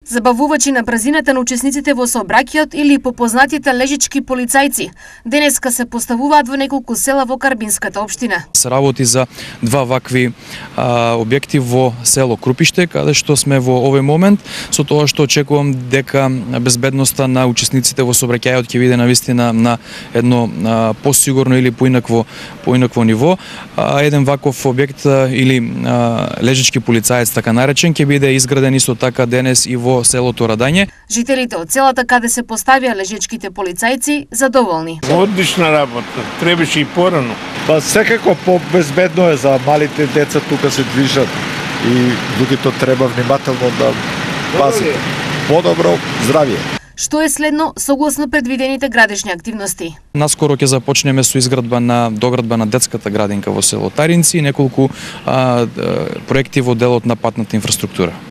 Забавувачи на брзината на учесниците во сообраќајот или попознатите лежички полицајци денеска се поставуваат во неколку села во Карбинската општина. Се работи за два вакви објекти во село Крупиште, каде што сме во овој момент, со тоа што очекувам дека безбедноста на учесниците во сообраќајот ќе биде навистина на едно посигурно или поинакво ниво. Еден ваков објект или лежички полицаец така наречен ќе биде изграден исто така денес и во селото Радање. Жителите од селата каде се поставија лежичките полицајци задоволни. Одлична работа, требаше и порано. Секако побезбедно е за малите деца, тука се движат и луѓето треба внимателно да пазат. Подобро здравје. Што е следно согласно предвидените градишни активности? Наскоро ќе започнеме со доградба на детската градинка во село Таринци и неколку проекти во делот на патната инфраструктура.